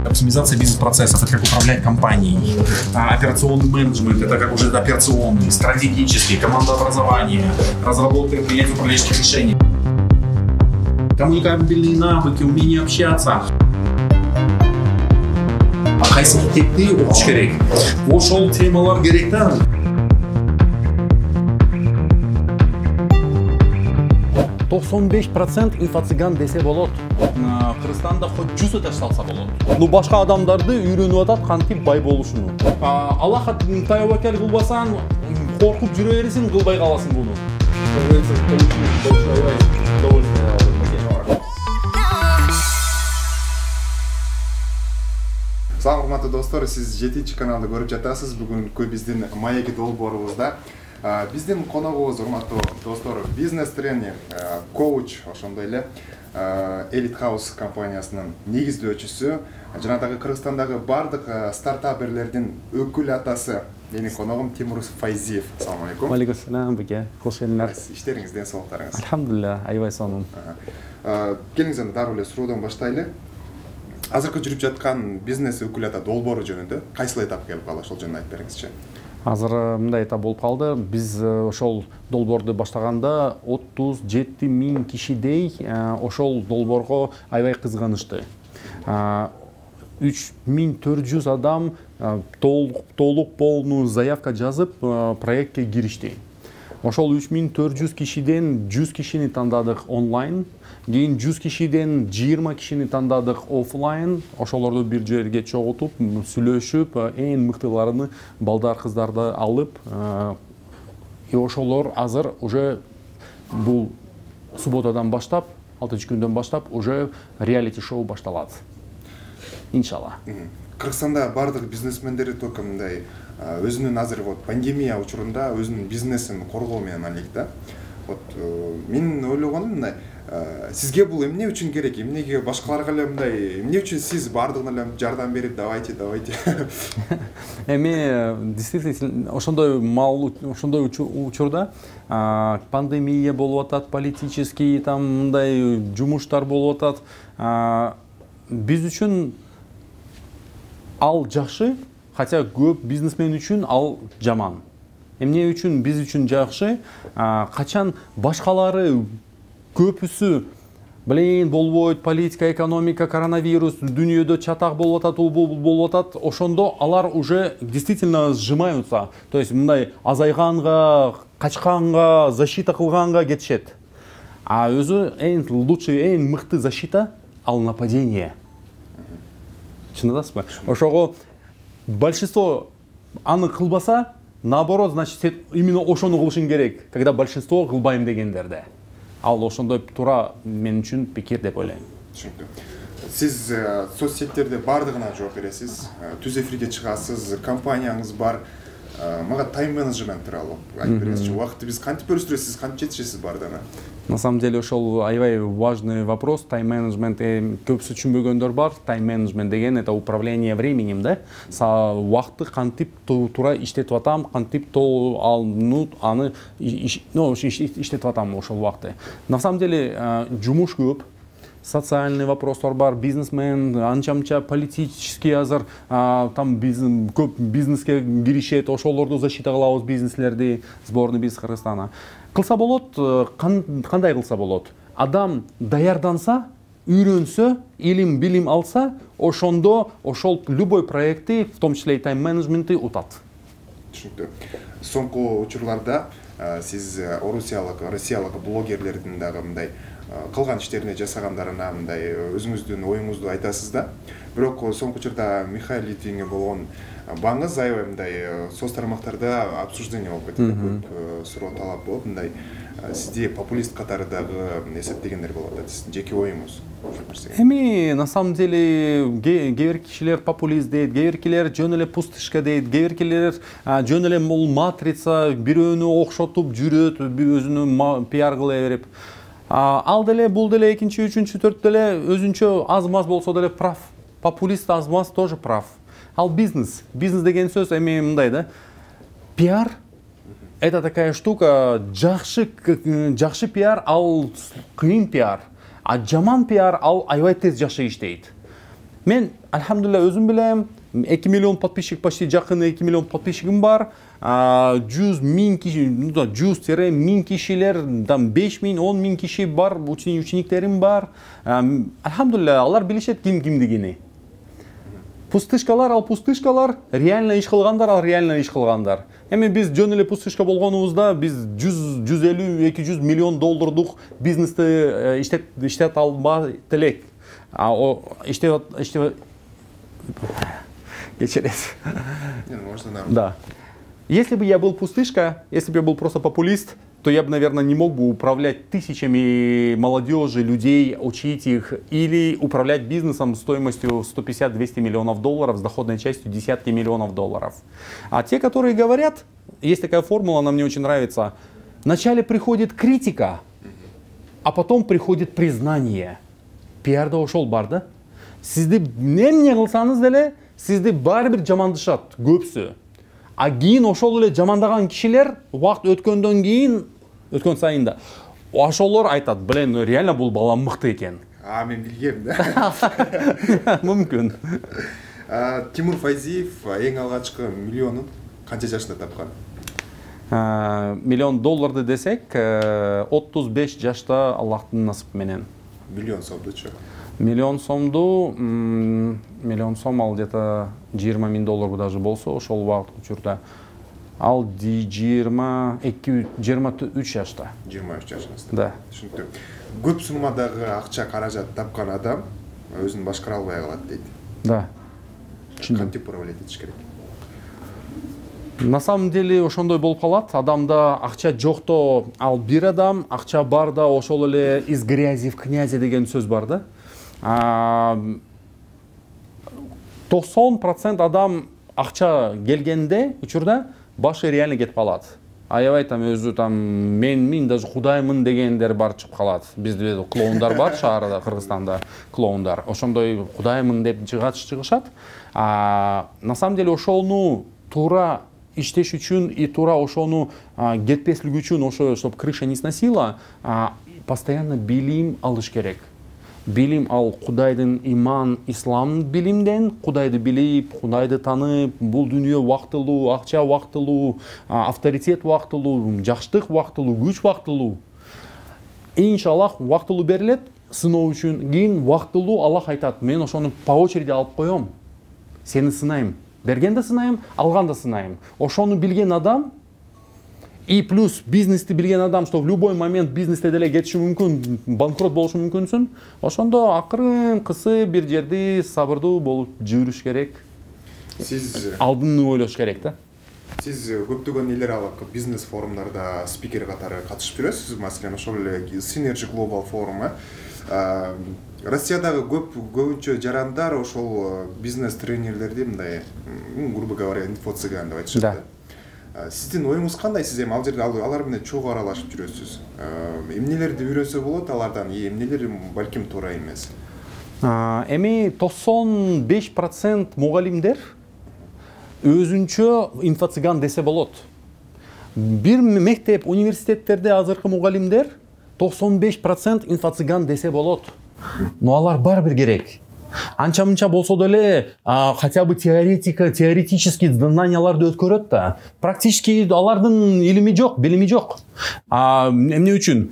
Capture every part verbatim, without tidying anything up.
Оптимизация бизнес-процессов, это как управлять компанией, операционный менеджмент, это как уже операционный, стратегический, командообразование, разработка и принятие управленческих решений. Коммуникабельные навыки, умение общаться. Кайсы мектепти окуш керек. Ошол темалар керек да. токсон беш процент инфо-цыган десе болот. Кыргызстанда хоть жүз этаж салса болот. Ну башка адамдарды үйрөнүп атат кантип бай болушуну. Аллах тайбакел кылбасаң, коркуп жүрө бересиң, кылбай каласың буну. Салам урматтуу достор, сиз жетинчи каналды көрүп жатасыз. Бүгүнкү биздин маеки долбоорубузда биздин коногубуз урматтуу достор, бизнес тренер, коуч, ошондой эле Elite House компаниясынын негиздөөчүсү, жана дагы Кыргызстандагы бардык стартаперлердин өкүл атасы, менин коногум Тимур Файзиев. Assalamu алейкум. Ва алейкум ассалам, беке. Кош келиңер. Иштериңиз, ден соолуктарыңыз. Алхамдулилlah, аябай сонун. Келиңиз анда дароо эле суроодон баштайлы. Азыркы жүрүп жаткан бизнес өкүл ата долбоору жөнүндө кайсыл этап келип калды, ошол жөнүндө айтып бериңизчи. Азыр мындай этап болуп калды. Биз ошол долбоорду баштаганда отуз жети миң кишидей ошол долбоорго аябай кызганышты. үч миң төрт жүз адам толук полную заявка жазып проектке киришти. Ошол үч миң төрт жүз кишиден жүз кишини тандадык онлайн, кийин жүз кишиден жыйырма кишини тандадык офлайн. Ошолорду бир жерге чогултуп, сүйлөшүп, эң мыктыларын балдар, кыздарды алып, и ошолор азыр уже бул субботадан баштап, алтынчы күндөн баштап уже реалити шоу башталат. Иншалла. Кыргызстанда бардык бизнесмендер только мындай өзүнүн азыр вот пандемия учурунда өзүнүн бизнесин коргоо менен алек да. Вот мен ойлогонум мындай, сизге бул эмне үчүн керек? Эмнеге башкаларга эле мындай, эмне үчүн сиз бардыгына эле жардам берип, давайте, давайте. Эми действительно ошондой мал, ошондой учурда пандемия болуп атат, политический там мындай жумуштар болуп атат. Биз үчүн ал жакшы, хотя көп бизнесмен үчүн ал жаман. Эмне үчүн биз үчүн жакшы? Качан башкалары көпүсү блин болбойт, политика, экономика, коронавирус, дүйнөдө чатак болуп атат, болуп атат, ошондо алар уже действительно сжимаются. То есть мындай азайганга, качканга, защита кылганга кетишет. А өзү эң лучший, эң мыкты защита ал нападение. Чындасызбы? Ошого большинство аны кылбаса, наоборот, значит, сен именно ошону кылышың керек, когда большинство кылбайм дегендерде. Ал ошондой туура мен үчүн пикир деп ойлойм. Түшүнүктүү. Сиз соцсеттерде бардыгына жооп бересиз, түз эфирге чыгасыз, компанияңыз бар. Мага тайм менеджмент тууралуу айтып бериңизчи. Убакытты биз кантип бөлүштүрөсүз, кантип жетишесиз бардыгына? На самом деле ошол аябай важный вопрос. Тайм менеджмент көпсү түшүнбөгөндөр бар. Тайм менеджмент деген это управление временем, да? Убакытты кантип туура иштетип атам, кантип аны ну иштетип атам ошол убакытты. На самом деле жумуш көп. Социальный вопростар бар, бизнесмен, анча-мынча политический азыр там бизнес көп бизнеске киришет, ошолорду защита кылабыз бизнеслерди, сборный бизнес Кыргызстана. Кылса болот, кандай кылса болот? Адам даярданса, үйрөнсө, илим, билим алса, ошондо ошол любой проектти, в том числе и тайм менеджментти утат. Түшүнүктүү. Соңку учурларда сиз орусиялык, россиялык блогерлердин дагы мындай кылган иштерине жасагандарына мындай өзүңүздүн оюңузду айтасыз да. Бирок соңку учурда Михаил Литвинге болгон баңыз аябай мындай соц тармактарда обсуждение болуп кетти, көп суроо талап болуп, мындай сизди популист катары дагы эсептегендер болуп атат. Сиздин жеке оюңуз. Эми на самом деле кээ бир кишилер популист дейт, кээ биркилер жөн эле пустышка дейт, кээ биркилер жөн эле бул матрица, бирөөнү окшотуп жүрөт, өзүнүн пиар кыла берип. Ал деле, бул деле, экинчи, үчүнчү, төрт деле өзүнчө аз-маз болсо деле прав. Популист аз-маз тоже прав. Ал бизнес. Бизнес деген сөз эми мындай да. Пиар это такая штука, жакшы жакшы пиар ал кыйын пиар, а жаман пиар ал аябай тез жакшы иштейт. Мен альхамдулилля өзүм билем, эки миллион подписчик, почти жакын эки миллион подписчигим бар. жүз миң киши, жүз миң кишилер, беш миң, он миң киши бар, учениктерим бар. Альхамдулилля, алар билишет ким кимдигини. Пустышкалар, ал пустышкалар, реально иш кылгандар, ал реально иш кылгандар. Эми биз жөн эле пустышка болгонубузда биз жүз элүү эки жүз миллион доллардык бизнести иштеп иштеп албай элек. А о иштеп иштеп кечирет. Да. Если бы я был пустышка, если бы я был просто популист, то я бы, наверное, не мог бы управлять тысячами молодежи, людей, учить их, или управлять бизнесом стоимостью сто пятьдесят — двести миллионов долларов с доходной частью десятки миллионов долларов. А те, которые говорят, есть такая формула, она мне очень нравится, вначале приходит критика, а потом приходит признание. Пиарда ошол бар да? Сизди эмне кылсаңыз деле, сизди баары бир жамандашат көпсү. А кийин ошол эле жамандаган кишилер убакыт өткөндөн кийин, өткөн сайын да, ошолор айтат, блин, реально бул бала мыкты экен. А, мен билгем да. Мүмкүн. Тимур Файзиев эң алгачкы миллионун канча жашында тапкан? Миллион долларды десек, отуз беш жашта Аллахтын насып менен. Миллион сомдучу? Миллион сомду, миллион сом ал где-то жыйырма миң доллар даже болсо, ошол убакыт учурда. Ал жыйырма эки жыйырма үч жашта. жыйырма үч жашыңызда. Да. Түшүнүктүү. Көп суммадагы акча каражат тапкан адам өзүн башкара албай калат дейт. Да. Кантип управлять этиш керек? На самом деле ошондой болуп калат. Адамда акча жокто ал бир адам, акча барда ошол эле из грязи в князи деген сөз бар да. токсон процент адам акча келгенде учурда башы реально кетип калат. Аябай там өзү там менмин, даже кудаймын дегендер бар чыгып калат. Бизде клоундар бар шаарда, Кыргызстанда клоундар. Ошондой кудаймын деп чыгышат. А на самом деле ошону туура иштеш үчүн и туура ошону кетпеслик үчүн, ошо чтобы крыша не сносила, постоянно билим алыш керек. Билим ал Кудайдын иман, ислам билимден, Кудайды билип, Кудайды танып, бул дүйнө убактылуу, акча убактылуу, авторитет убактылуу, жакшылык убактылуу, күч убактылуу. Иншаллах убактылуу берилет, сыноо үчүн. Кийин убактылуу Аллах айтат, мен ошону по очереди алып коем. Сени сынайм. Бергенде сынайм, алганда сынайм. Ошону билген адам и плюс бизнести билген адам, что в любой момент бизнесте деле кетиши мүмкүн, банкрот болушу мүмкүнсүн. Ошондо акырын кысы бир жерди сабырдуу болуп жүрүш керек. Сиз алдын ойлош керек да. Сиз көптөгөн элер алак бизнес форумдарда спикер катары катышып жүрөсүз, маселен ошол эле Synergy Global форуму. Россиядагы көп көбүнчө жарандар ошол бизнес тренерлерди мындай, грубо говоря, инфо-цыган деп айтышат да. Сиздин оюңуз кандай? Сиз эми ал жерде алар менен чогуу аралашып жүрөсүз. Эмнелерди үйрөнсө болот алардан, эмнелер балким туура эмес? Эми токсон беш процент мугалимдер өзүнчө инфо-цыган десе болот. Бир мектеп, университеттерде азыркы мугалимдер токсон беш процент инфо-цыган десе болот. Но алар барбир керек. Анча-мынча болсо деле, хотя бы теоретика, теоретический знанияларды өткөрөт да. Практически алардын илими жок, билими жок. Эмне үчүн?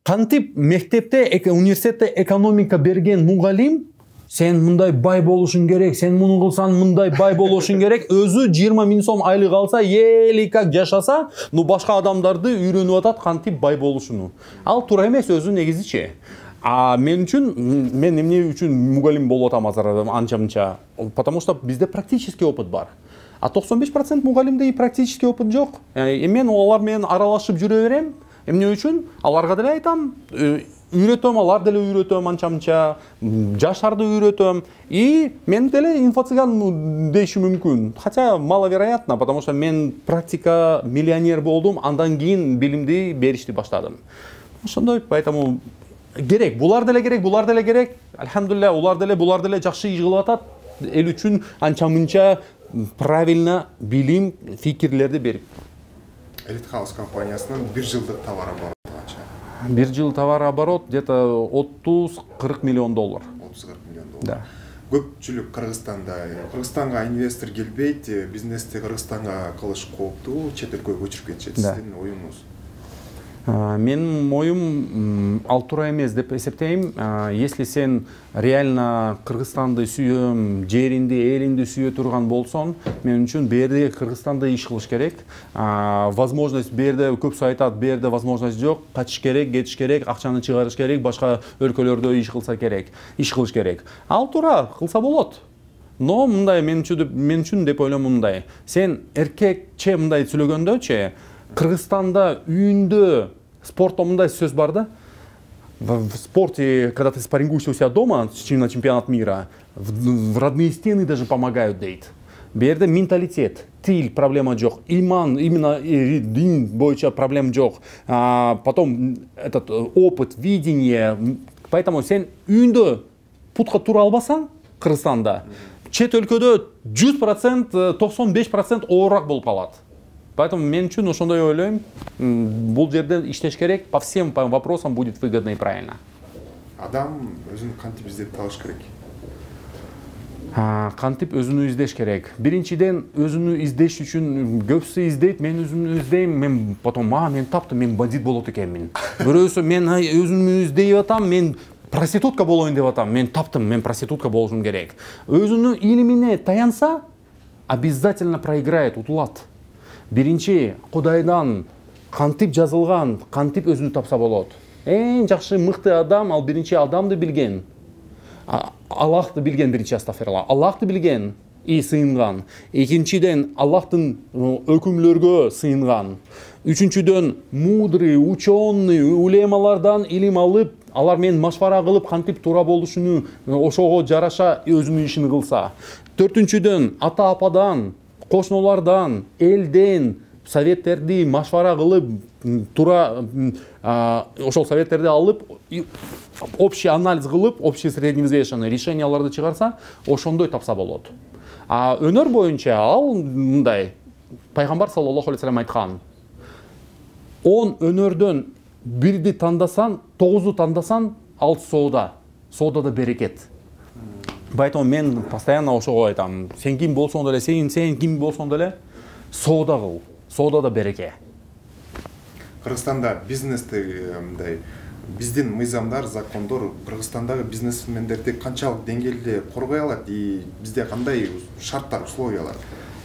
Кантип мектепте, университетте экономика берген мугалим, сен мындай бай болушуң керек, сен муну кылсаң мындай бай болушуң керек, өзү жыйырма миң сом айлык алса, ели как жашаса, ну башка адамдарды үйрөнүп атат кантип бай болушуну. Ал туура эмес өзү негизичи. А мен үчүн, мен эмне үчүн мугалим болуп атам азыр анча-мынча? Потому что бизде практический опыт бар. А токсон беш процент мугалимде практический опыт жок. Мен алар менен аралашып жүрө берем. Эмне үчүн? Аларга деле айтам, үйрөтөм, алар деле үйрөтөм анча-мынча, жаштарды үйрөтөм. И мен деле инфо-цыган дейиши мүмкүн. Хотя маловероятно, потому что мен практика миллионер болдум, андан кийин билимди беришти баштадым. Ошондой, поэтому керек, булар деле керек, булар деле керек. Альхамдулилля, улар деле, булар деле жакшы иш кылып атат. Эл үчүн анча-мынча правильно билим, фикирлерди берип. Elite House компаниясынын бир жылдык товар обороты канча? Бир жыл товар оборот где-то отуз кырк миллион доллар. отуз кырк миллион доллар. Да. Көпчүлүк Кыргызстанда, Кыргызстанга инвестор келбейт, бизнести Кыргызстанга кылыш кооптуу, чет өлкөгө көчүрүп кетишет. Сиздин оюңуз? Менин оюм ал туура эмес деп эсептейм. Если сен реально Кыргызстанды сүйөм, жеринди, элинди сүйө турган болсоң, мен үчүн берде Кыргызстанда иш кылыш керек. Возможность берде көпсү айтат, берде возможность жок, качыш керек, кетиш керек, акчаны чыгарыш керек, башка өлкөлөрдө иш кылса керек, иш кылыш керек. Ал туура кылса болот. Но мындай мен үчүн мен үчүн деп ойлойм мындай. Сен эркекче мындай сүйлөгөндөчү, Кыргызстанда үйүндө спортто мындай сөз бар да. В спорте, когда ты спаррингуешься у себя дома на чемпионат мира, в родные стены даже помогают дейт. Берде менталитет, тил проблема жок, иман, именно дин боюнча проблема жок. А потом этот опыт, видение. Поэтому сен үйүндө путка тура албасаң Кыргызстанда, чет өлкөдө жүз процент, токсон беш процент оорураак болуп калат. Поэтому мен үчүн ошондой ойлойм, бул жерде иштеш керек, по всем вопросам будет выгодно и правильно. Адам өзүн кантип издеп табыш керек? Кантип өзүнү издеш керек? Биринчиден, өзүнү издеш үчүн көпсү издейт, мен өзүмдү издейм, мен потом, а, мен таптым, мен бандит болот экенмин. Бирөөсү мен өзүмдү издеп атам, мен проститутка болоюн деп атам, мен таптым, мен проститутка болушум керек. Өзүнүн илимине таянса, обязательно проиграет, утулат. Биринчи, Кудайдан кантип жазылган, кантип өзүнү тапса болот. Эң жакшы мыкты адам, ал биринчи адамды билген. Аллахты билген биринчи, астагфирулла. Аллахты билген и сыйынган. Экинчиден, Аллахтын өкүмлөргө сыйынган. Үчүнчүдөн, мудрый, ученый, улемалардан илим алып, алар менен машвара кылып, кантип туура болушуну, ошого жараша өзүнүн ишин кылса. Төртүнчүдөн, ата-ападан, кошуналардан, элден советтерди машвара кылып, туура ошол советтерди алып, общий анализ кылып, общий средневзвешенный решенияларды чыгарса, ошондой тапса болот. А өнөр боюнча ал мындай, пайгамбар саллаллаху алейхи вассалам айткан, он өнөрдөн бирди тандасан, тогузду тандасан, ал соода, соодада берекет. Поэтому мен постоянно ошого айтам, сен ким болсоң деле, сен сен ким болсоң деле, соода кыл, соодада береке. Кыргызстанда бизнести мындай биздин мыйзамдар, закондор Кыргызстандагы бизнесмендерди канчалык деңгээлде коргой алат и бизде кандай шарттар, условиялар?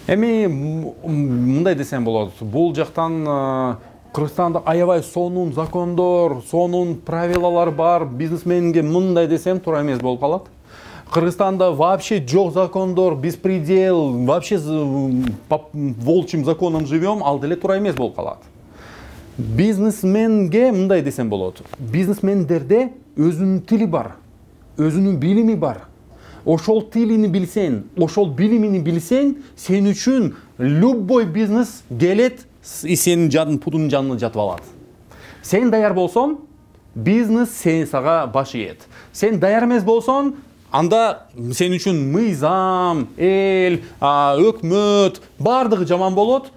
Эми мындай десем болот, бул жактан Кыргызстанда аябай сонун закондор, сонун правилалар бар, бизнесменге мындай десем туура эмес болуп калат. Кыргызстанда вообще жок закондор, беспредел, вообще по волчьим законам живем, ал деле туура эмес болуп калат. Бизнесменге мындай десем болот. Бизнесмендерде өзүнүн тили бар, өзүнүн билими бар. Ошол тилини билсең, ошол билимини билсең, сен үчүн любой бизнес келет и сенин жадың пудун жанына жатып алат. Сен даяр болсоң, бизнес сен сага баш ийет. Сен даяр эмес болсоң, анда сен үчүн мыйзам, эл, өкмөт бардыгы жаман болот,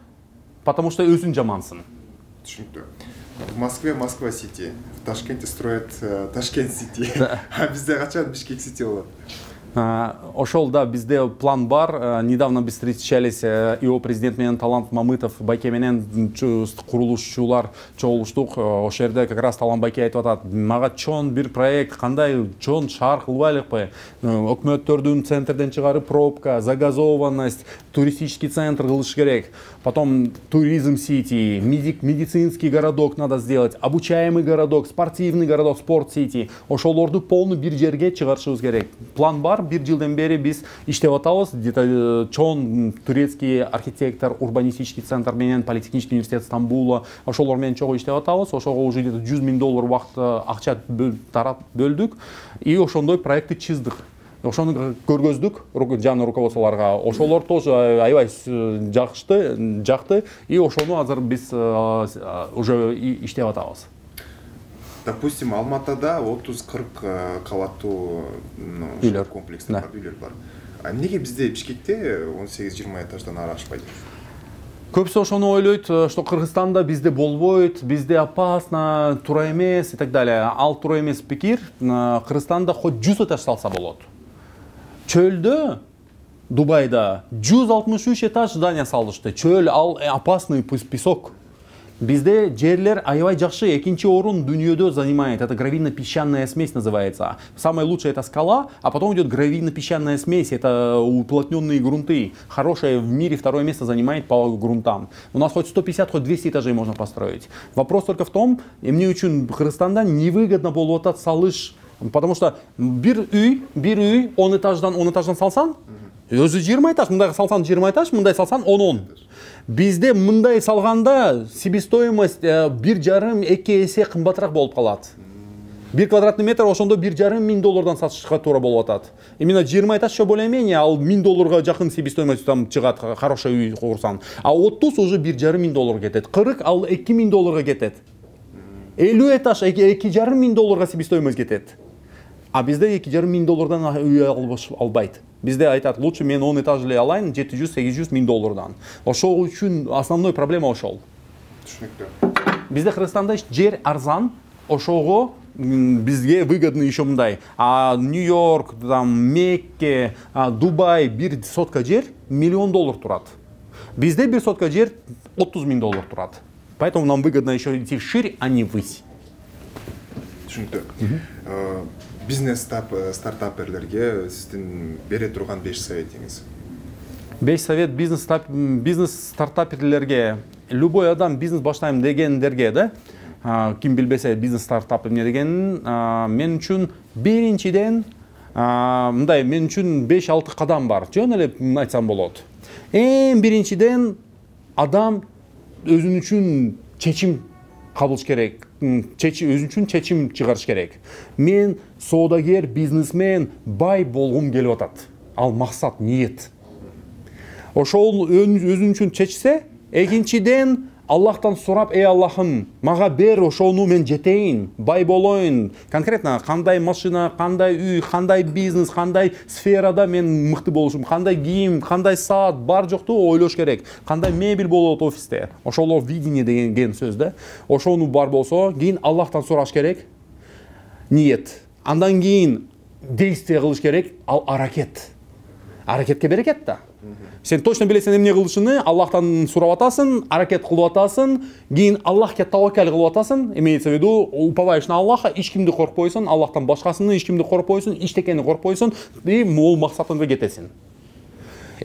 потому что өзүң жамансың. Түшүнүктүү. В Москве Москва Сити, в Ташкенте строят Ташкент Сити. А бизде качан Бишкек Сити болот? Ошол да бизде план бар. Недавно биз встречались, ИО президент менен Талант Мамытов Байке менен курулушчулар чогулуштук. Ошол жерде как раз Талант Байке айтып атат, мага чоң бир проект, кандай чоң шаар кылбайлыкпы? Өкмөттөрдүн центрден чыгарып пробка, загазованность, туристический центр кылыш керек. Потом туризм сити, медицинский городок надо сделать, обучаемый городок, спортивный городок, спорт-сити. Ошолорду полный бир жерге чыгарышыбыз керек. План бар, бир жылдан бери биз иштеп атабыз. Где-то чоң турецкий архитектор, урбанистический центр менен Политехнический университет Стамбула, ошолор менен чогуу иштеп атабыз. Ошого уже где-то жүз миң доллар убакыт акча тарап бөлдүк и ошондой проектти чиздик. Ошону көргөздүк жаңы руководстволорго. Ошолор тоже аябай жакты, жакты и ошону азыр биз уже иштеп атабыз. Допустим, Алматада отуз кырк кабаттуу комплекстер бар, үйлөр бар. А эмнеге бизде Бишкекте он сегиз жыйырма этаждан ары ашпайт? Көпсө ошону ойлойт, что Кыргызстанда бизде болбойт, бизде опасно, туура эмес и так далее. Ал туура эмес пикир. Кыргызстанда хоть жүз этаж салса болот. Чөлдө, Дубайда жүз алтымыш үч этаж здание салышты. Чөл, ал опасный песок. Бизде жерлер аябай жакшы, экинчи орун дүйнөдө занимает. Это гравийно-песчаная смесь называется. Самая лучшая это скала, а потом идет гравийно-песчаная смесь. Это уплотненные грунты. Хорошая в мире, второе место занимает по грунтам. У нас хоть сто пятьдесят, хоть двести этажей можно построить. Вопрос только в том, эмне үчүн Кыргызстанда невыгодно болуп атат салыш. Потому что бир үй, бир үй он этаждан он этаждан салсан, өзү жыйырма этаж, мындай салсан жыйырма этаж, мындай салсан он он. Бизде мындай салганда себестоимость бир жарым эки эсе кымбатыраак болуп калат. Бир квадратный метр ошондо бир жарым миң доллардан сатышка туура болуп атат. Именно жыйырма этаж еще более-менее, ал миң долларга жакын себестоимость там чыгат, хороший үй курсаң. А отуз уже бир жарым миң долларга кетет. кырк ал эки миң долларга кетет. элүү этаж эки жарым миң долларга себестоимость кетет. А бизде эки жарым миң доллардан үй албайт. Бизде айтат, лучше мен он этаж эле алайын, жети жүз сегиз жүз миң доллардан. Ошол үчүн основной проблема ошол. Түшүнүктүү. Бизде Кыргызстанда жер арзан, ошого бизге выгодный еще мындай. А Нью-Йорк, там Мекке, Дубай бир сотка жер миллион доллар турат. Бизде бир сотка жер отуз миң доллар турат. Поэтому нам выгодно еще идти шире, а не ввысь. Түшүнүктүү. Бизнес стартаперлерге сиздин бере турган беш советиңиз? Беш совет бизнес бизнес стартаперлерге, любой адам бизнес баштайм дегендерге, да, ким билбесе бизнес стартап эмне дегенин, мен үчүн биринчиден мындай, мен үчүн беш алты кадам бар. Жөн эле айтсам болот. Эң биринчиден адам өзүн үчүн чечим кабыл керек. Өзүн үчүн чечим чыгарыш керек. Мен соодагер, бизнесмен, бай болгум келип атат. Ал максат, ниет. Ошол өзүн үчүн чечсе, экинчиден Аллахтан сурап, эй Аллахым, мага бер, ошону мен жетейин, бай болоюн. Конкретно кандай машина, кандай үй, кандай бизнес, кандай сферада мен мыкты болушум, кандай кийим, кандай саат бар жокту ойлош керек. Кандай мебель болот офисте. Ошолор видение деген сөз да. Ошону бар болсо, кийин Аллахтан сураш керек. Ниет. Андан кийин действие кылыш керек, ал аракет. Аракетке берекет да. Сен точно билесең эмне кылышыны, Аллахтан сурап атасың, аракет кылып атасың, кийин Аллахка таваккал кылып атасың, имеется в виду, уповаешь на Аллаха, эч кимди коркпойсуң, Аллахтан башкасыны эч кимди коркпойсуң, эчтекени коркпойсуң, и мол максатыңга жетесиң.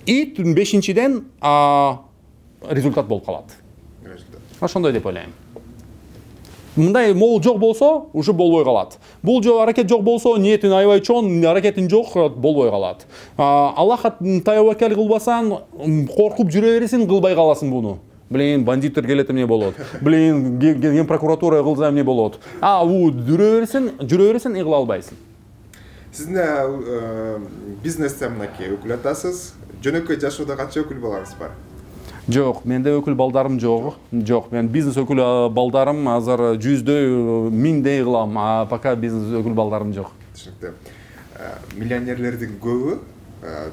И бешинчиден результат болуп калат. Ошондой деп ойлойм. Мындай мол жок болсо, уже болбой калат. Бул жок аракет жок болсо, ниетин аябай чоң, аракетин жок, болбой калат. Аллахка таваккал кылбасаң, коркуп жүрө бересиң, кылбай каласың буну. Блин, бандиттер келет эмне болот. Блин, ген прокуратура кылса эмне болот. А, бу жүрө бересиң, жүрө бересиң, кыла албайсың. Сиздин бизнесте мынакей өкүл атасыз. Жөнөкөй жашоодо канча өкүл балаңыз бар? Жок, менде өкүл балдарым жок. Жок, мен бизнес өкүл балдарым азыр жүздөй, миңдей кылам, а пока бизнес өкүл балдарым жок. Түшүнүктүү. Миллионерлердин көбү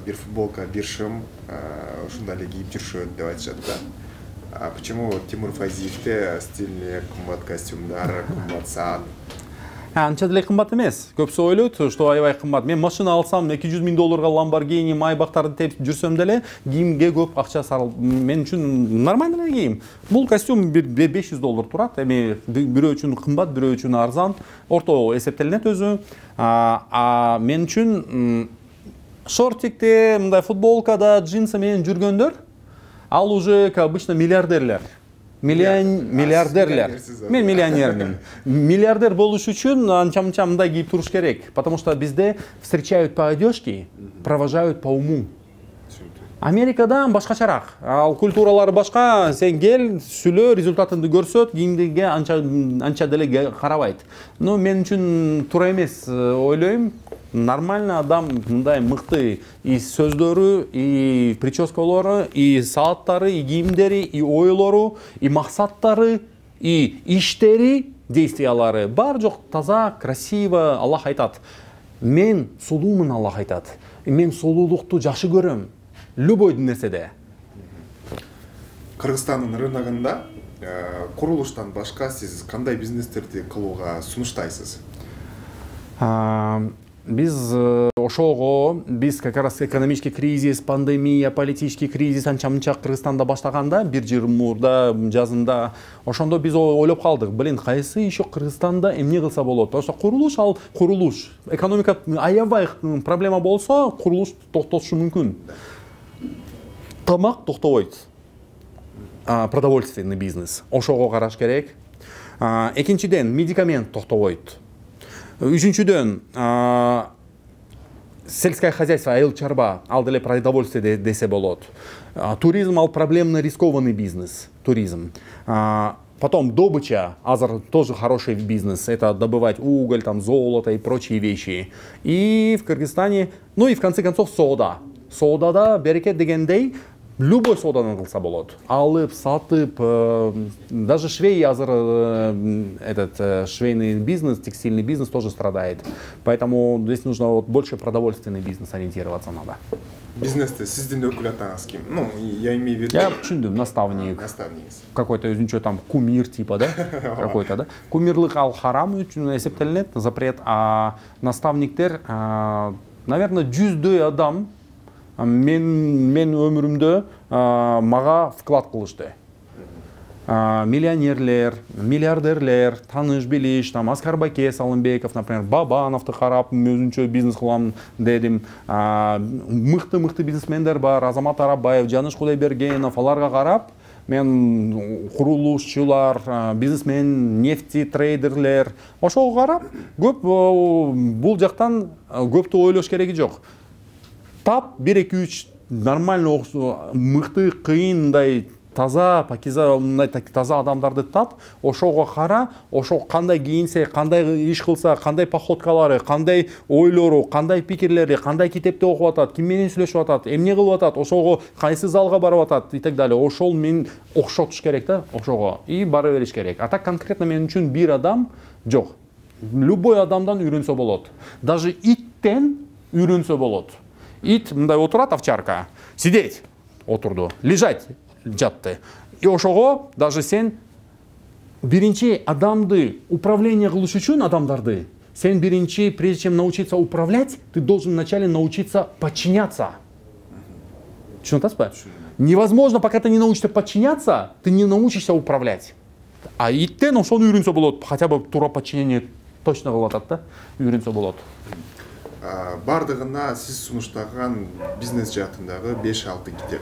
бир футболка, бир шым ушундай эле кийип жүрүшөт деп айтышат да. А почему Тимур Файзиевде стильный кымбат костюмдар, кымбат саат? Анча деле кымбат эмес. Көпсү ойлойт, что аябай кымбат. Мен машина алсам, эки жүз миң долларга Lamborghini, Майбактарды тепип жүрсөм деле, кийимге көп акча сарыл. Мен үчүн нормально эле кийим. Бул костюм беш жүз доллар турат. Эми бирөө үчүн кымбат, бирөө үчүн арзан. Орто эсептелинет өзү. А мен үчүн шортикте, мындай футболкада, джинсы менен жүргөндөр, ал уже как обычно миллиардерлер. Миллиардерлер. Мен миллионермин. Миллиардер болуш үчүн анча-мынча мындай кийип туруш керек. Потому что бизде встречают по одежке, провожают по уму. Америкада башкачараак. Ал культуралары башка. Сен кел, сүйлө, результатыңды көрсөт, кийимге анча анча деле карабайт. Но мен үчүн туура эмес ойлойм. Нормально адам мындай мыкты и сөздөрү, и прическалары, и сааттары, и кийимдери, и ойлору, и максаттары, и иштери, действиялары бар жок, таза, красиво. Аллах айтат. Мен сулуумун, Аллах айтат. Мен сулуулукту жакшы көрөм. Любой нерседе. Кыргызстандын рыногунда курулуштан башка сиз кандай бизнестерди кылууга сунуштайсыз? Биз ошого биз как раз экономический кризис, пандемия, политический кризис анча мынча Кыргызстанда баштаганда бир жыл мурда жазында ошондо биз ойлоп калдык, блин, кайсы еще Кыргызстанда эмне кылса болот? Ошо курулуш, ал курулуш, экономика аябай проблема болсо, курулуш токтотушу мүмкүн. Тамак токтобойт. Продовольственный бизнес. Ошого караш керек. Экинчиден, медикамент токтобойт. Үчүнчүдөн, сельское хозяйство, айыл чарба, ал деле продовольствие десе болот. Туризм ал проблемно рискованный бизнес, туризм. Потом добыча, азыр тоже хороший бизнес, это добывать уголь, там золото и прочие вещи. И в Кыргызстане, ну и в конце концов сода. Содада берекет дегендей, любой содадан кылса болот. Алып, сатып, даже швей азыр этот швейный бизнес, текстильный бизнес тоже страдает. Поэтому здесь нужно вот больше продовольственный бизнес ориентироваться надо. Бизнесте сиздин өкүл атаңыз ким? Ну, я имею в виду... Я түшүндүм, наставник. Наставник. Какой-то өзүнчө там кумир типа, да? Какой-то, да? Кумирлык ал харам үчүн эсептелинет, запрет, а наставниктер, наверное, жүздөй адам мен мен өмүрүмдө мага вклад кылышты. Миллионерлер, миллиардерлер, таныш билиш, там Аскарбаке Салымбеков, например, Бабановду карап өзүнчө бизнес кылам дедим. Мыкты-мыкты бизнесмендер бар, Азамат Арабаев, Жаныш Кудайбергенов, аларга карап мен курулушчулар, бизнесмен, нефти трейдерлер, ошого карап көп бул жактан көптү ойлош кереги жок. Тап бир эки үч нормально мыкты, кыйындай таза, пакиза, мындай таза адамдарды тап, ошого кара, ошо кандай кийинсе, кандай иш кылса, кандай походкалары, кандай ойлору, кандай пикирлери, кандай китепти окуп атат, ким менен сүйлөшүп атат, эмне кылып атат, ошого кайсы залга барып атат и так далее. Ошол мен окшотуш керек да, ошого и бара бериш керек. А так конкретно мен үчүн бир адам жок. Любой адамдан үйрөнсө болот. Даже иттен үйрөнсө болот. Ит мындай отурат, овчарка, сидеть отурду, лежать жатты. И ошого даже сен биринчи адамды управление кылыш үчүн адамдарды, сен биринчи, прежде чем научиться управлять, ты должен вначале научиться подчиняться. Түшүнүп атасызбы? Невозможно, пока ты не научишься подчиняться, ты не научишься управлять. А иттен ошону үйрөнсө болот, хотя бы тура подчинение точно кылып атат да, үйрөнсө болот. Бардыгына сиз сунуштаган бизнес жаатындагы беш алты китеп.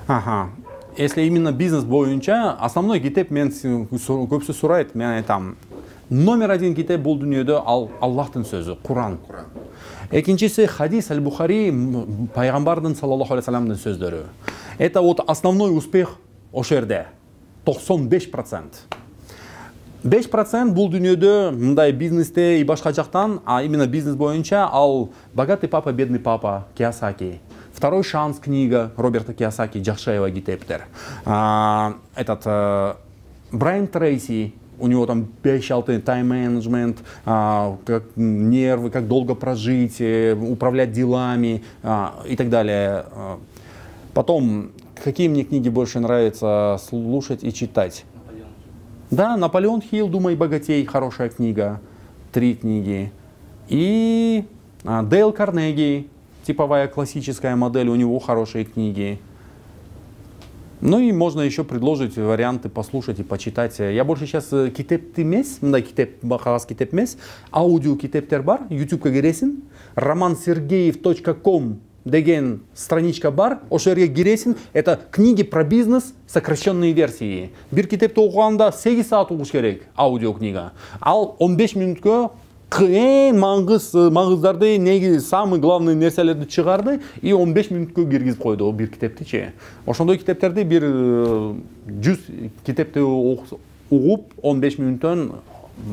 Ага. Если именно бизнес боюнча, основной китеп мен көпсү сурайт, мен айтам. Номер один китеп бул дүйнөдө ал Аллахтын сөзү, Куран. Куран. Экинчиси хадис Аль-Бухари, пайгамбардын саллаллаху алейхи вассаламдын сөздөрү. Это вот основной успех ошол жерде. токсон беш процент. беш процент бул дүйнөдө мындай бизнесте и башка жактан, а именно бизнес боюнча ал «Богатый папа, бедный папа» Кийосаки. Второй шанс книга Роберта Кийосаки, Жакшаева китептер. Этот Брайан Трейси, у него там беш алты тайм-менеджмент, как нервы, как долго прожить, управлять делами и так далее. Потом, какие мне книги больше нравится слушать и читать? Да, Наполеон Хилл, «Думай, богатей», хорошая книга, три книги. И Дейл Карнеги, типовая классическая модель, у него хорошие книги. Ну и можно еще предложить варианты послушать и почитать. Я больше сейчас китепти эмес, мындай китеп, кагаз китеп эмес, аудио китептер бар, ютубка киресиң, роман сергеев точка ком деген страничка бар, ошол жерге киресиң, это книги про бизнес, сокращенные версии. Бир китепти окуганда сегиз саат угуш керек, аудио книга. Ал он беш мүнөткө эң маңгыз маңгыздарды, неги самый главный нерселерди чыгарды и он беш мүнөткө киргизип койду бир китептичи. Ошондой китептерди бир жүз китепти угуп он беш мүнөттөн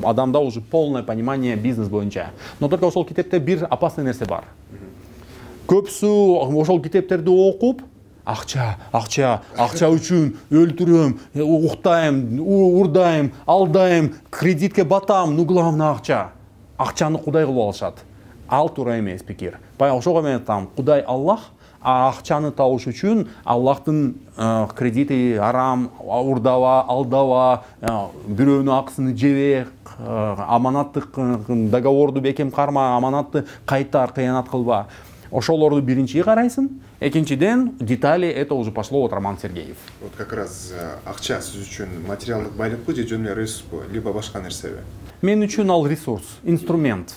адамда уже полное понимание бизнес боюнча. Но только ошол китепте бир опасный нерсе бар. Көпсү ошол китептерди окуп, акча, акча, акча үчүн өлтүрөм, уктайм, урдайм, алдайм, кредитке батам, ну главное акча. Акчаны Кудай кылып алышат. Ал туура эмес пикир. Баягы ошого мен айтам, Кудай Аллах акчаны табыш үчүн Аллахтын кредити арам, урдава, алдава, бирөөнүн акысын жебе, аманаттык договорду бекем карма, аманатты кайтар, кыянат кылба. Ошолорду биринчи карайсың. Экинчиден, детали это уже пошло от Роман Сергеев. Вот как раз акча сиз үчүн материалдык байлыкпы же жөн эле ресурспу, либо башка нерсеби? Мен үчүн ал ресурс, инструмент.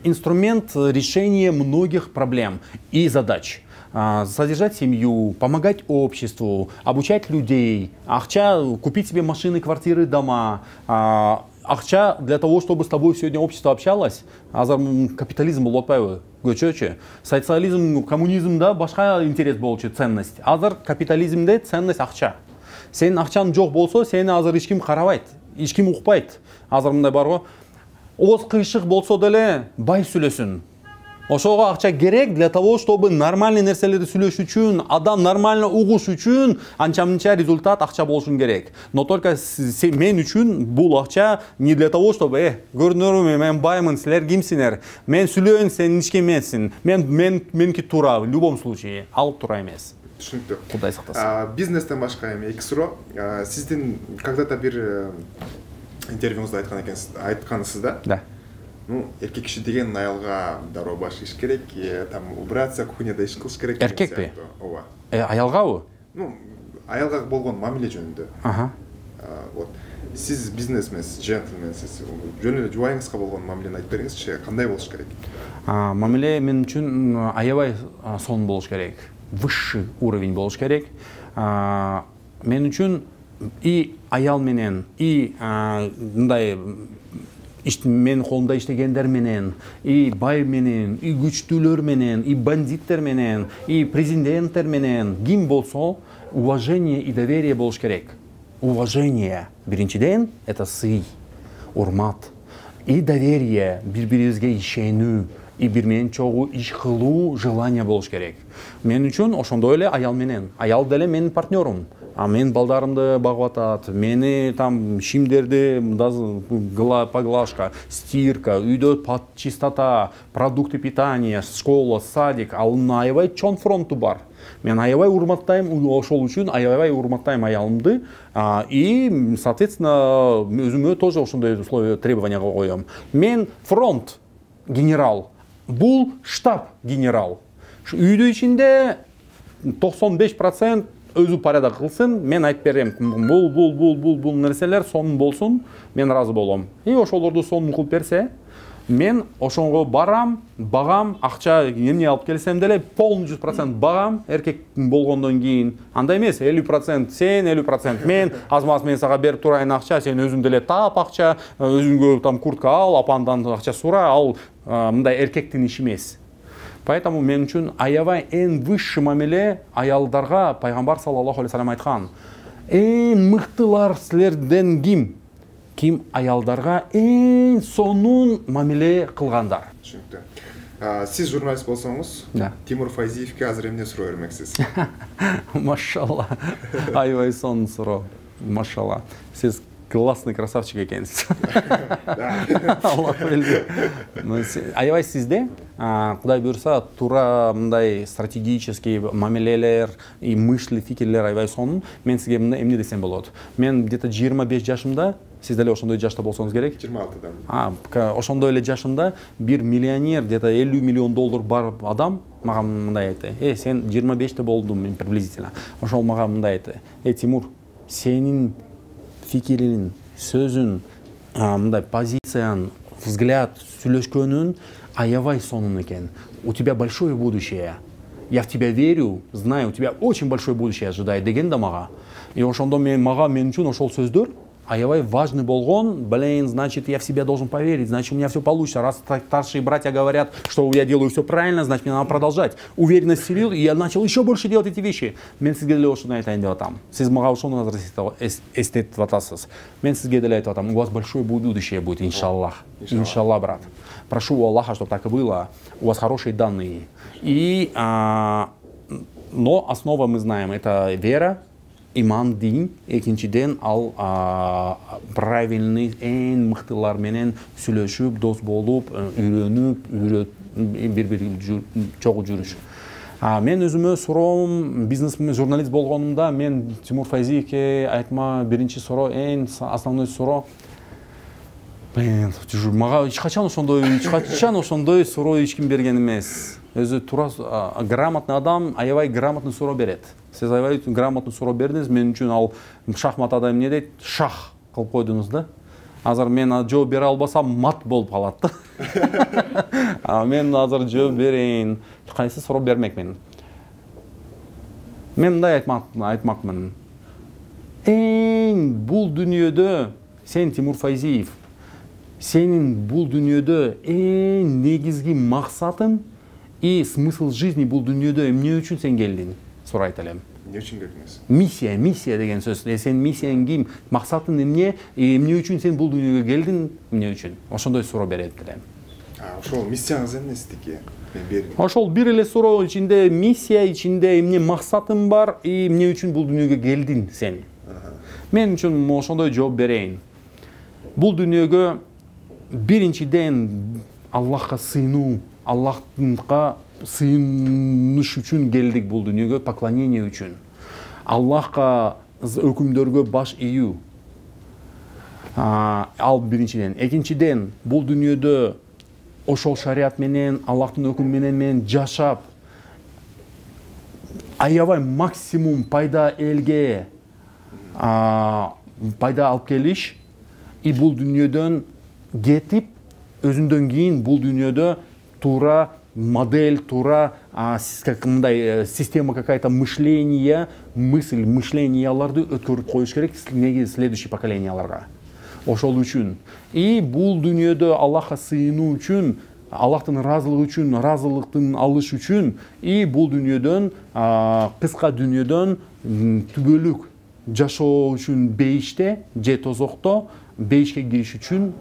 Инструмент решения многих проблем и задач. Содержать семью, помогать обществу, обучать людей, акча, купить себе машины, квартиры, дома, акча для того, чтобы с тобой сегодня общество общалось, азыр капитализм болуп атпайбы, көчөчү. Социализм, коммунизмда башка интерес болчу, ценность. Азыр капитализмде ценность акча. Сенин акчаң жок болсо, сени азыр эч ким карабайт, эч ким укпайт. Азыр мындай барго, ооз кыйшык болсо деле бай сүйлөсүн. Ошого акча керек для того, чтобы нормальный нерселерди сүйлөш үчүн, адам нормально угуш үчүн анча-мынча результат акча болушун керек. Но только мен үчүн бул акча не для того, чтобы э, көрдүңөрбү, мен баймын, силер кимсиңер? Мен сүйлөйүн, сен эч ким эмессиң. Мен мен меники туура, в любом случае, ал туура эмес. Түшүнүктүү. Кудай сактасын. Бизнестен башка эми эки суроо. Сиздин когда-то бир интервьюңузда айткан экенсиз, айткансыз да? Да. Ну, эркек киши деген аялга дароо баш иш керек, там убираться, кухняда иш кылыш керек. Эркекпи? Ооба. Э, аялгабы? Ну, аялга болгон мамиле жөнүндө. Ага. Вот. Сиз бизнесменсиз, джентльменсиз, жөн эле жубайыңызга болгон мамилени айтып бериңизчи, кандай болуш керек? Мамиле мен үчүн аябай сонун болуш керек. Высший уровень болуш керек. Мен үчүн и аял менен, и мындай мен колумда иштегендер менен, и бай менен, и күчтүүлөр менен, и бандиттер менен, и президенттер менен ким болсо, уважение и доверие болуш керек. Уважение биринчиден это сый, урмат, и доверие, бири-бирибизге ишенүү, и бир менен чогуу иш кылуу желание болуш керек. Мен үчүн ошондой эле аял менен, аял деле менин партнерум. А мен балдарымды багып атат, мени там шимдерди поглажка, стирка, үйдө чистота, продукты питания, школа, садик, ал аябай чоң фронту бар. Мен аябай урматтайм, ошол үчүн аябай урматтайм аялымды, и, соответственно, өзүмө тоже ошондой условия, требования коём. Мен фронт генерал, бул штаб генерал. Үйдүн ичинде токсон беш процент өзү порядок кылсын, мен айтып берем, бул бул бул бул бул нерселер сонун болсун, мен разы болом. И ошолорду сонун кылып берсе, мен ошонго барам, багам, акча эмне алып келсем деле полный жүз процент багам, эркек болгондон кийин. Андай эмес, элүү процент сен, элүү процент мен, аз-маз мен сага берип турайын акча, сен өзүң деле тап акча, өзүңгө там куртка ал, апандан акча сура, ал мындай эркектин иши эмес. Поэтому мен үчүн аябай эң высший мамиле аялдарга пайгамбар саллаллаху алейхи вассалам айткан. Эң мыктылар силерден ким? Ким аялдарга эң сонун мамиле кылгандар. Түшүнүктүү. Сиз журналист болсоңуз, да. Тимур Файзиевке азыр эмне суроо бермексиз? Машалла. Аябай сонун суроо. Машалла. Сиз классный красавчик экенсиз. Аллах билди. Аябай сизде, Кудай буйрса, туура мындай стратегический мамилелер и мышлы фикирлер аябай сонун. Мен сизге эмне десем болот? Мен где-то жыйырма беш жашымда, сиз деле ошондой жашта болсоңуз керек. жыйырма алтыда. А, ошондой эле жашымда бир миллионер, где-то элүү миллион доллар бар адам мага мындай айтты. Э, сен жыйырма беште болдуң приблизительно. Ошол мага мындай айтты. Э, Тимур, сенин фикирин, сөзүн, мындай позицияң, взгляд, сүйлөшкөнүн аябай сонун экен. У тебя большое будущее. Я в тебя верю, знаю, у тебя очень большое будущее ожидает деген да мага. И ошондо мен мага мен үчүн ошол сөздөр аябай важный болгон. Блин, значит, я в себя должен поверить, значит, у меня все получится. Раз старшие братья говорят, что я делаю все правильно, значит, мне надо продолжать. Уверенность вселил, и я начал еще больше делать эти вещи. Мен сизге деле ошону айтайын деп атам. Сиз мага ошону азыр эстетип атасыз. Мен сизге деле айтып атам. У вас большое будущее будет, иншаллах. Иншаллах, брат. Прошу у Аллаха, чтобы так и было. У вас хорошие данные. И, а, но основа мы знаем, это вера, иман, дин, экинчиден ал а, правильный эң мыктылар менен сүйлөшүп, дос болуп, үйрөнүп, бири-бири чогуу жүрүш. А мен өзүмө суроом, бизнес журналист болгонумда мен Тимур Файзиевке айтма биринчи суроо, эң основной суроо. Мен мага эч качан ошондой, эч качан ошондой суроо эч ким берген эмес. Өзү тура грамотный адам аябай грамотный суроо берет. Сиз аябай грамотный суроо бердиңиз, мен үчүн ал шахматада эмне дейт? Шах кылып койдуңуз да. Азыр мен жооп бере албасам мат болуп калат да. А мен азыр жооп берейин. Кайсы суроо бермекмин? Мен мындай айтмакмын. Эң бул дүйнөдө сен Тимур Файзиев, сенин бул дүйнөдө эң негизги максатың и смысл жизни бул дүйнөдө эмне үчүн сен келдиң? Сурайт элем. Эмне үчүн келдиңиз? Миссия, миссия деген сөз. Сен миссияң ким? Максатың эмне? Эмне үчүн сен бул дүйнөгө келдиң? Эмне үчүн? Ошондой суроо берет элем. А, ошол миссияңыз эмнесидики? Мен бердим. Ошол бир эле суроо ичинде миссия ичинде эмне максатың бар и эмне үчүн бул дүйнөгө келдиң сен? Мен үчүн ошондой жооп берейин. Бул дүйнөгө биринчиден Аллахка сыйынуу, Аллахка сыйыныш үчүн келдик бул дүйнөгө, поклонение үчүн. Аллахка өкүмдөргө баш ийүү. Ал биринчиден. Экинчиден, бул дүйнөдө ошол шарият менен, Аллахтын өкүмү менен мен жашап, аябай максимум пайда элге пайда алып келиш, и бул дүйнөдөн кетип, өзүндөн кийин бул дүйнөдө туура модель, тура мындай система какая-то мышления, мысль, мышленияларды өткөрүп коюш керек негизи следующий поколенияларга. Ошол үчүн. И бул дүйнөдө Аллахка сыйынуу үчүн, Аллахтын ыраазылыгы үчүн, ыраазылыктын алыш үчүн, и бул дүйнөдөн, кыска дүйнөдөн түбөлүк жашоо үчүн бейиште, же тозокто бейишке кириш үчүн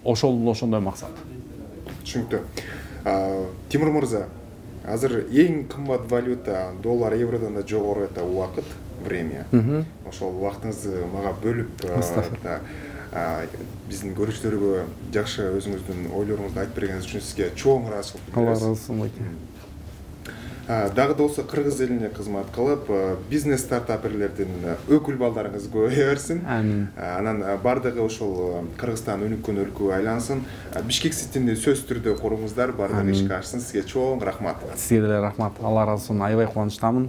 ошол ошондой максат. Түшүнүктүү. Тимур мырза, азыр эң кымбат валюта доллар, евродон да жогору это убакыт, время. Ошол убактыңызды мага бөлүп, биздин көрүүчүлөргө жакшы өзүңүздүн ойлоруңузду айтып бергениңиз үчүн сизге чоң ыраазычылык билдиребиз. Алла ыраазы болсун. Дагы да болсо кыргыз элине кызмат кылып, бизнес стартаперлердин өкүл балдарыңыз көбөйө берсин. Анан бардыгы ошол Кыргызстан өнүккөн өлкөгө айлансын. Бишкек Ситинди сөзсүз түрдө куруңуздар, бардыгы ишке ашсын. Сизге чоң рахмат. Сизге деле рахмат. Алла ыраазы болсун. Аябай кубанычтамын.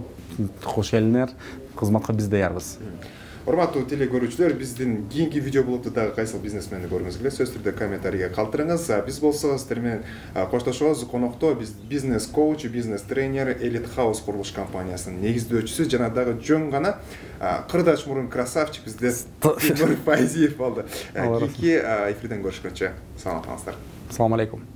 Кош келиңер. Кызматка биз даярбыз. Урматтуу теле көрүүчүлөр, биздин кийинки видео блогду дагы кайсыл бизнесменди көргүңүз келет, сөзсүз түрдө комментарийге калтырыңыз. Биз болсо сиздер менен коштошобуз. Конокто биз бизнес коуч, бизнес тренер, Elite House курулуш компаниясынын негиздөөчүсү жана дагы жөн гана кырдач мурун красавчик бизде Тимур Файзиев болду. Кийинки эфирден көрүшкөнчө саламат калыңыздар. Ассаламу алейкум.